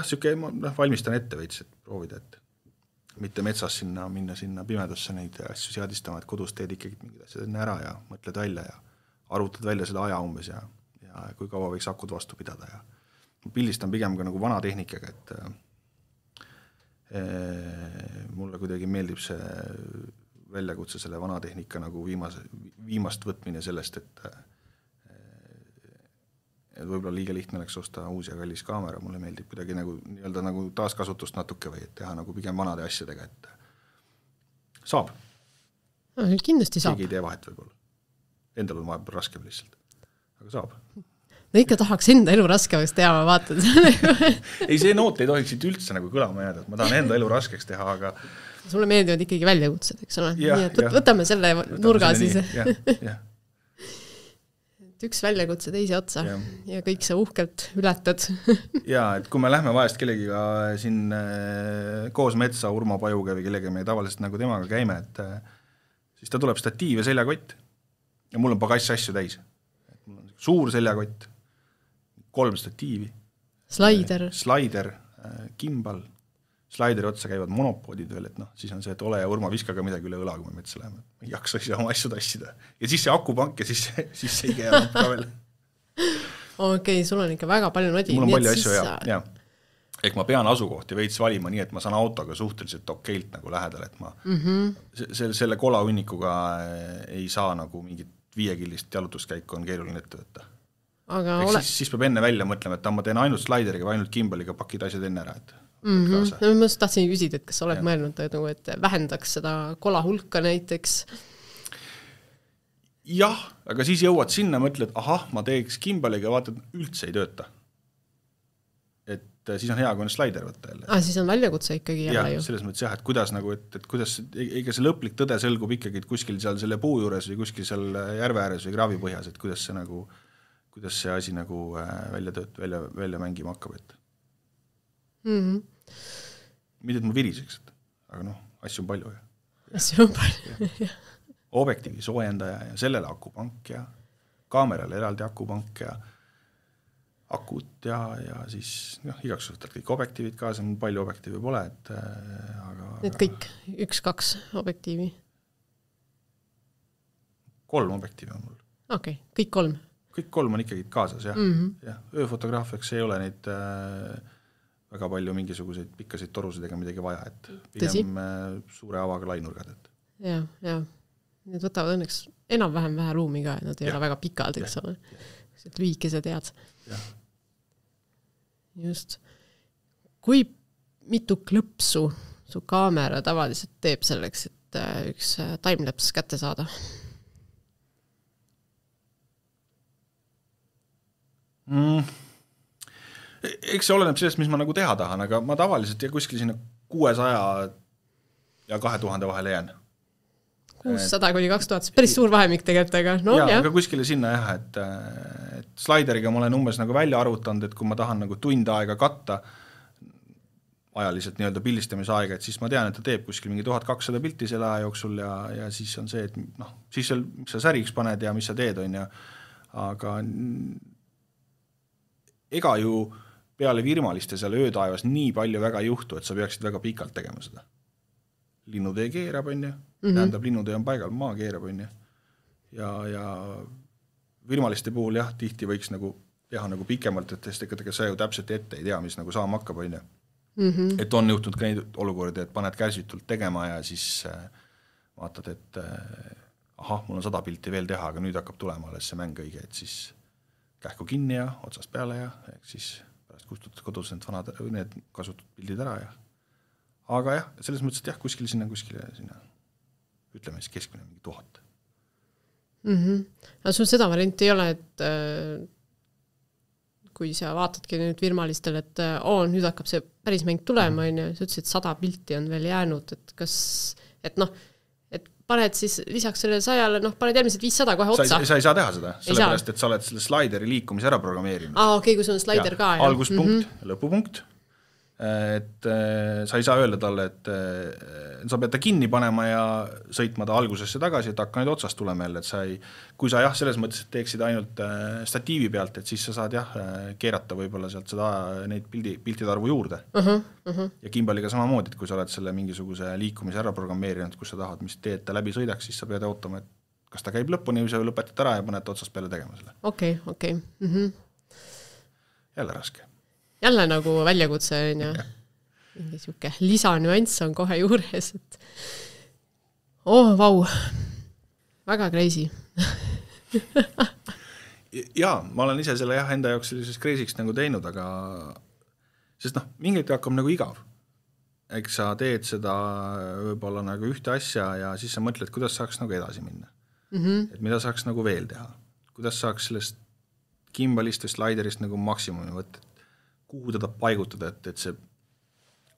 siuke, ma valmistan ette veits, et proovida, et mitte metsas minna sinna pimedusse neid asju seadistama, et kodus teed ikkagi mingid asjad enne ära ja mõtled välja ja arvutad välja selle aja umbes ja kui kaua võiks akud vastu pidada ja pildistan pigem ka nagu vana tehnikaga, et mulle kuidagi meeldib see väljakutse selle vana tehnika nagu viimast võtmine sellest, et võib-olla liiga lihtne oleks osta uus ja kallis kaamera, mulle meeldib kuidagi nagu taaskasutust natuke või et teha nagu pigem vanade asjadega, et saab. Kindlasti saab. Keegi ei tee vahet võib-olla. Endal on vahepeal raskem lihtsalt, aga saab. No ikka tahaks enda elu raskemaks teha, ma vaatan ei, see noot ei tohiks siit üldse nagu kõlama jääda, et ma tahan enda elu raskeks teha, aga sulle meeldivad ikkagi väljakutsed, eks ole? Nii et võtame selle nurga siis. Üks väljakutse teise otsa ja kõik sa uhkelt ületad. Et kui me lähme vahest kellegiga siin koos metsa Urmo Pajuga või kellega me tavaliselt nagu temaga käime, et siis ta tuleb statiiv ja seljakott ja mul on pagass asju täis. Mul on suur seljakott, 3 statiivi, slaider, gimbal, slaideri otsa käivad monopoodid veel, et siis on see, et ole ja Urma viskaga midagi üle õla, kui me metsa läheme. Ma ei jaksa ise oma asju tassida. Ja siis see akupank ja siis see ei käe ka veel. Okei, sul on ikka väga palju nodi. Mul on palju asju, jah. Ehk ma pean asukohti veits valima nii, et ma saan autoga suhteliselt okeilt nagu lähedal, et ma selle kolahunnikuga ei saa nagu mingit 5-killist jalutuskäiku on keeruline ette võtta. Siis peab enne välja mõtlema, et ma teen ainult slaideriga või ainult gimbaliga pakid asjad enne ära, et ma just tahtsin küsida, et kas oled mõelnud, et vähendaks seda kola hulka näiteks? Jah, aga siis jõuad sinna, mõtled, ma teeks gimbaliga, vaatad, üldse ei tööta. Et siis on hea, kui on slaider võtta jälle. Siis on väljakutse ikkagi jälle ju. Selles mõttes et kuidas nagu, et kuidas, eiga see lõplik tõde selgub ikkagi kuskil seal selle puu juures või kuskil seal järve ääres või kraavi põhjas, et kuidas see asi nagu välja mängima hakkab, et mitte, et mul viriseks, aga asju on palju. Asju on palju, Objektiivi soojendaja ja sellele akupank ja kaamerale eraldi akupank ja akut ja siis igaks võtad kõik objektiivid kaasa, mul palju objektiivi pole, aga need kõik, 1-2 objektiivi? 3 objektiivi on mul. Okei, kõik 3? Kõik 3 on ikkagi kaasas, jah. Ööfotograafiaks ei ole neid väga palju mingisuguseid pikkasid torusid ega midagi vaja, et pigem suure avaga lainurgad. Ja. Need võtavad õnneks enam-vähem vähe ruumi ka, et nad ei ole väga pikad, eks ole. Lühikesed head. Just. Kui mitu klõpsu su kaamera tavaliselt teeb selleks, et üks timelaps kätte saada? Eks see oleneb sellest, mis ma nagu teha tahan, aga ma tavaliselt kuskil sinna 600 ja 2000 vahele jään. 600 kuni 2000, päris suur vahemik tegelikult, aga aga kuskile sinna jah, et slaideriga ma olen umbes nagu välja arvutanud, et kui ma tahan nagu tund aega katta ajaliselt nii-öelda pildistamise aega, et siis ma tean, et ta teeb kuskil mingi 1200 pilti selle aja jooksul ja siis on see, et siis mis sa säriks paned ja mis sa teed, on ja aga ega ju peale virmaliste seal öötaevas nii palju väga ei juhtu, et sa peaksid väga pikalt tegema seda. Linnutee keerab, on ju, tähendab, linnutee on paigal, maa keerab, on ju, ja virmaliste puhul jah, tihti võiks nagu teha nagu pikemalt, et ega sa ju täpselt ette ei tea, mis nagu saama hakkab, on ju. Et on juhtunud ka neid olukordi, et paned käsitult tegema ja siis vaatad, et mul on 100 pilti veel teha, aga nüüd hakkab tulema alles see mäng õige, et siis kähku kinni ja otsast peale ja siis pärast kustutad kodus need kasutatud pildid ära ja aga jah, selles mõttes, et jah, kuskile sinna, ütleme siis keskmine mingi 1000. Aga sul seda varianti ei ole, et kui sa vaatadki nüüd virmalistele, et nüüd hakkab see päris mäng tulema, on ju, sa ütlesid, et 100 pilti on veel jäänud, et kas, et paned siis lisaks sellele 100-le, paned järgmised 500 kohe otsa. Sa ei saa teha seda, sellepärast, et sa oled selle slaideri liikumise ära programmeerinud. Okei, kui sul on slaider ka. Alguspunkt, lõpupunkt. Et sa ei saa öelda talle, et sa pead ta kinni panema ja sõitma ta algusesse tagasi, et hakka nüüd otsast tulema jälle, et kui sa jah, selles mõttes, et teeksid ainult statiivi pealt, et siis sa saad jah, keerata võib-olla sealt seda neid piltide arvu juurde. Ja Gimbaliga samamoodi, et kui sa oled selle mingisuguse liikumise ära programmeerinud, kus sa tahad, mis teed ta läbi sõidaks, siis sa pead ootama, et kas ta käib lõpuni või sa lõpetad ära ja paned otsast peale tegema selle. Okei. Jälle raske. Jälle nagu väljakutse on ja mingi siuke lisanüanss on kohe juures, et vau, väga crazy. Jaa, ma olen ise selle enda jaoks sellises crazy'ks nagu teinud, aga sest mingit hakkab nagu igav. Eks sa teed seda võib-olla nagu ühte asja ja siis sa mõtled, kuidas saaks nagu edasi minna. Et mida saaks nagu veel teha. Kuidas saaks sellest Gimbalist või slaiderist nagu maksimumi võtta, kuhu teda paigutada, et see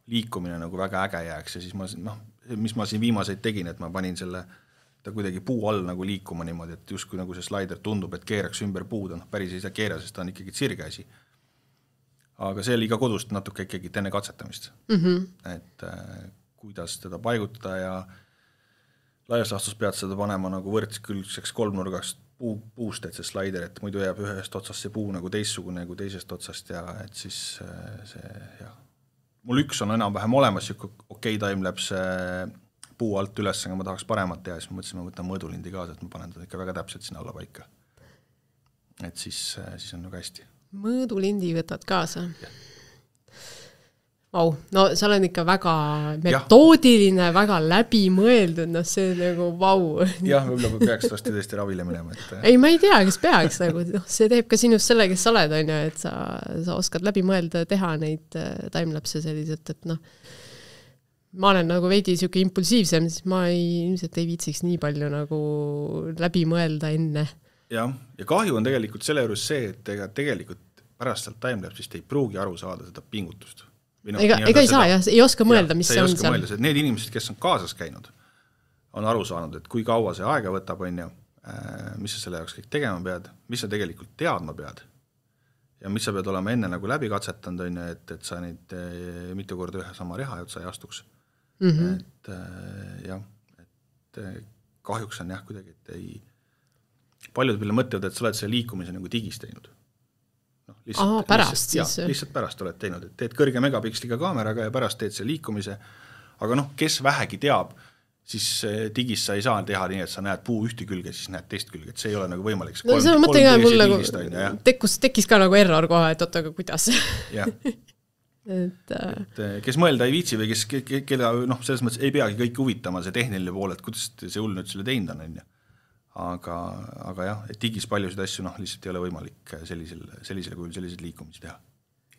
liikumine nagu väga äge jääks ja siis mis ma siin viimaseid tegin, et ma panin selle ta kuidagi puu all nagu liikuma niimoodi, et justkui nagu see slaider tundub, et keeraks ümber puud, päris ei saa keera, sest ta on ikkagi sirgeasi. Aga see oli ka kodust natuke ikkagi enne katsetamist. Et kuidas teda paigutada ja laias laastus pead seda panema nagu võrdskülgseks kolmnurgast puust, et see slaider, et muidu jääb ühest otsast see puu nagu teissugune nagu teisest otsast ja et siis see, jah. Mul üks on enam-vähem olemas, okei timelapse puu alt üles, aga ma tahaks paremat teha, siis ma mõtlesin, ma võtan mõõdulindi kaasa, et ma panen ta ikka väga täpselt sinna alla paika. Et siis on nagu hästi. Mõõdulindi võtad kaasa? Jah. Vau, no sa oled ikka väga metoodiline, väga läbimõeldud, see on nagu vau. Jah, võib-olla peaks tõesti ravile minema. Ei, ma ei tea, kes peaks, nagu, see teeb ka sinust selle, kes sa oled, on ju, et sa oskad läbi mõelda, teha neid timelapse selliselt, et ma olen nagu veidi siuke impulsiivsem, siis ma ilmselt ei viitsiks nii palju nagu läbi mõelda enne. Ja kahju on tegelikult selle juures see, et tegelikult pärast sealt timelapsist ei pruugi aru saada seda pingutust. Ega ei saa, ei oska mõelda, mis see on seal. Need inimesed, kes on kaasas käinud, on aru saanud, et kui kaua see aega võtab, on ju, mis sa selle jaoks kõik tegema pead, mis sa tegelikult teadma pead ja mis sa pead olema enne nagu läbi katsetanud, on ju, et sa neid mitu korda ühe sama reha otsa ei astuks. Et kahjuks on jah kuidagi, et ei paljud veel mõtlevad, et sa oled selle liikumise nagu digis teinud. Lihtsalt pärast oled teinud, et teed kõrge megapiksliga kaameraga ja pärast teed see liikumise, aga kes vähegi teab, siis digis sa ei saa teha nii, et sa näed puu ühte külge, siis näed teist külge, et see ei ole nagu võimalik. No see on mõte ka mul nagu tekkis ka nagu error kohe, et oota, aga kuidas? Jah. Et kes mõelda ei viitsi või kelle selles mõttes ei peagi kõik huvitama see tehniline pool, et kuidas see hull nüüd selle teinud on, aga jah, et digis paljusid asju lihtsalt ei ole võimalik sellisel kujul selliseid liikumisi teha.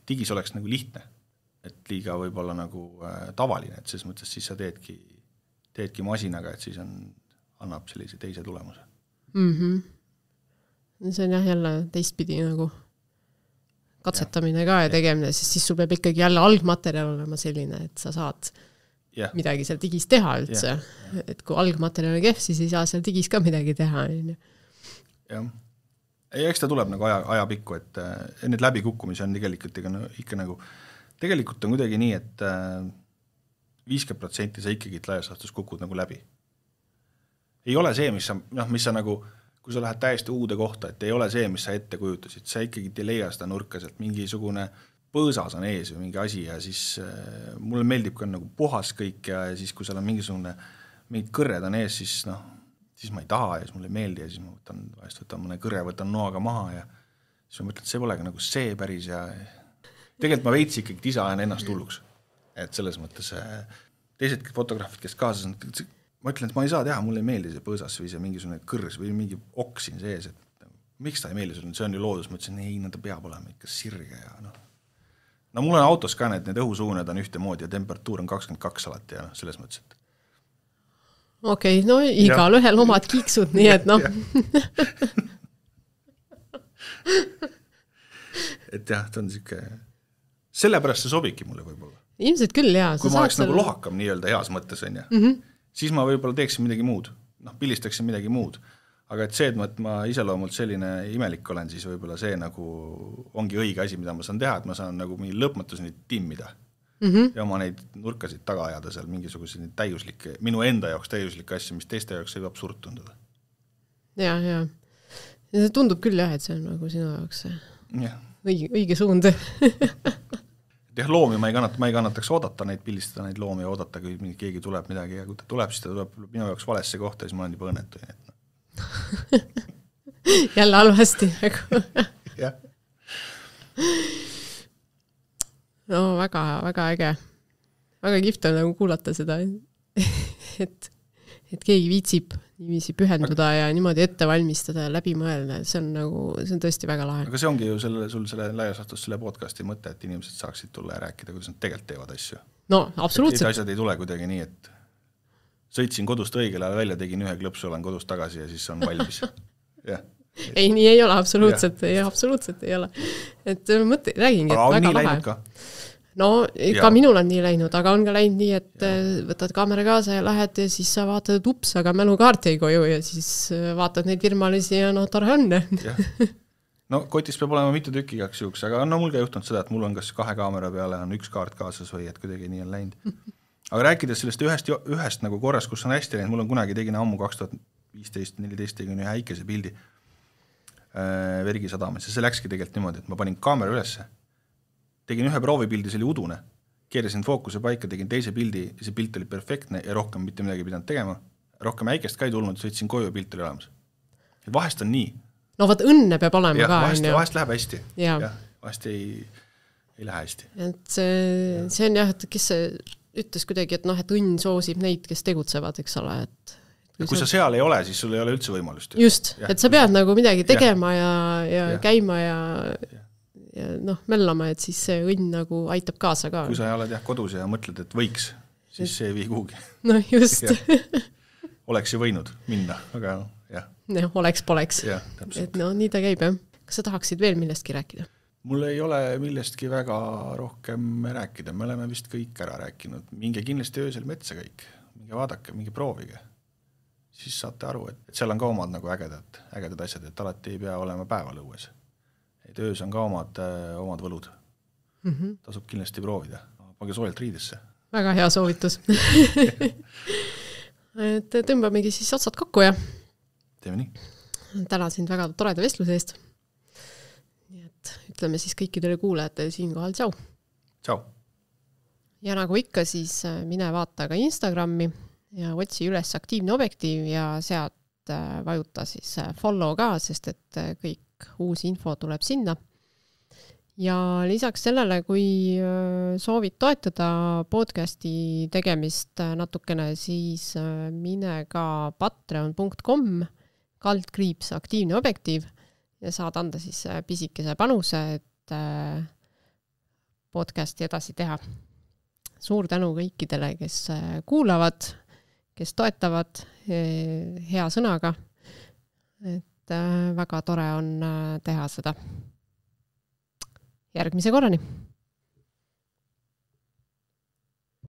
Digis oleks nagu lihtne, et liiga võib-olla nagu tavaline, et selles mõttes siis sa teedki masinaga, et siis annab sellise teise tulemuse. See on jah jälle teistpidi nagu katsetamine ka ja tegemine, siis sul peab ikkagi jälle algmaterjal olema selline, et sa saad midagi seal digis teha üldse. Et kui algmaterjal on kehv, siis ei saa seal digis ka midagi teha. Jah. Ja eks ta tuleb nagu ajapikku, et need läbikukkumisi on tegelikult ikka nagu, tegelikult on kuidagi nii, et 50% sa ikkagi laias laastus kukud nagu läbi. Ei ole see, mis sa nagu, kui sa lähed täiesti uude kohta, et ei ole see, mis sa ette kujutasid, sa ikkagi ei leia seda nurka, sealt mingisugune põõsas on ees või mingi asi ja siis mulle meeldib ka nagu puhas kõik ja siis kui seal on mingid kõrred on ees, siis ma ei taha ja siis mulle ei meeldi ja siis ma võtan mõne kõrre, võtan noaga maha ja siis ma mõtlen, et see polegi nagu see päris ja tegelikult ma veits ikkagi disain ennast hulluks. Et selles mõttes teised fotograafid, kes kaasas on, ma ütlen, et ma ei saa teha, mulle ei meeldi see põõsas või see mingisugune kõrs või mingi oksin sees, et miks ta ei meeldi sulle, see on ju loodus, ma ütlesin, ei, ta peab olema ikka sirge ja no mul on autos ka need õhusuuned on ühtemoodi ja temperatuur on 22 alati ja selles mõttes, et Okei, no igal ühel omad kiiksud, nii et et jah, ta on siuke sellepärast see sobibki mulle võib-olla. Ilmselt küll, jaa. Kui ma oleks nagu lohakam nii-öelda heas mõttes, on ja. Siis ma võib-olla teeksin midagi muud. Pilistaksin midagi muud. Aga et see, et ma iseloomult selline imelik olen, siis võib-olla see nagu ongi õige asi, mida ma saan teha, et ma saan nagu mingi lõpmatuseni timmida. Ja oma neid nurkasid taga ajada seal mingisuguseid täiuslikke, minu enda jaoks täiuslikke asju, mis teiste jaoks võib absurd tunduda. Ja see tundub küll jah, et see on nagu sinu jaoks õige suund. Loomi ma ei kannataks oodata neid pilistada, neid loomi ja oodata, kui keegi tuleb midagi ja kui ta tuleb, siis ta tuleb minu jaoks valesse kohta ja siis ma olen juba õnnetu. Jälle halvasti. Jah. No väga äge. Väga kihvt on nagu kuulata seda, et keegi viitsib niiviisi pühenduda ja niimoodi ette valmistada ja läbi mõelda. See on tõesti väga lahe. Aga see ongi ju sul selle laiasastus selle podcasti mõte, et inimesed saaksid tulla ja rääkida, kuidas nad tegelikult teevad asju. No, absoluutselt. Et asjad ei tule kuidagi nii, et sõitsin kodust õigel ajal välja, tegin ühe klõpsu, olen kodust tagasi ja siis on valmis. Ei, nii ei ole, absoluutselt ei ole. Et räägingi, et väga lahe. No, ka minul on nii läinud, aga on ka läinud nii, et võtad kaamera kaasa ja lähed ja siis sa vaatad, et ups, aga mälukaart ei koju ja siis vaatad neid firmalisi ja tore on. No kotis peab olema mitu tükki igaks juhuks, aga mul ka juhtunud seda, et mul on kas 2 kaamera peale on 1 kaart kaasas või et kuidagi nii on läinud. Aga rääkides sellest ühest nagu korras, kus on hästi läinud, mul on kunagi tegin ammu 2015-14 tegin ühe häikese pildi Vergi sadamas ja see läkski tegelikult niimoodi, et ma panin kaamera ülesse, tegin ühe proovipildi, see oli udune, keerasin fookuse paika, tegin teise pildi ja see pilt oli perfektne ja rohkem mitte midagi pidanud tegema, rohkem häikest ka ei tulnud, sõitsin koju ja pilt oli olemas. Et vahest on nii. No vaat õnne peab olema ka. Vahest läheb hästi. Ja, vahest ei lähe hästi. Et see on jah, et kes see ütles kuidagi, et et õnn soosib neid, kes tegutsevad, eks ole, et kui sa seal ei ole, siis sul ei ole üldse võimalust. Just, et sa pead nagu midagi tegema ja käima ja mellama, et siis see õnn nagu aitab kaasa ka. Kui sa oled kodus ja mõtled, et võiks, siis see ei vii kuhugi. No just. Oleks ju võinud minna, aga jah. Oleks-poleks. Et nii ta käib, jah. Kas sa tahaksid veel millestki rääkida? Mul ei ole millestki väga rohkem rääkida. Me oleme vist kõik ära rääkinud. Minge kindlasti öösel metsa kõik. Minge vaadake, minge proovige. Siis saate aru, et seal on ka omad nagu ägedad asjad, et alati ei pea olema päeval õues. Et öös on ka omad võlud. Tasub kindlasti proovida. Pange soojalt riidesse. Väga hea soovitus. Et tõmbamegi siis otsad kokku ja teeme nii. Tänan sind väga toreda vestluse eest. Nii et ütleme siis kõikidele kuulajatele siinkohal tšau. Tšau. Ja nagu ikka, siis mine vaata ka Instagrami ja otsi üles aktiivne objektiiv ja sealt vajuta siis follow ka, sest et kõik uus info tuleb sinna. Ja lisaks sellele, kui soovid toetada podcasti tegemist natukene, siis mine ka patreon.com /aktiivne objektiiv ja saad anda siis pisikese panuse, et podcasti edasi teha. Suur tänu kõikidele, kes kuulavad, kes toetavad hea sõnaga. Et väga tore on teha seda. järgmise korrani!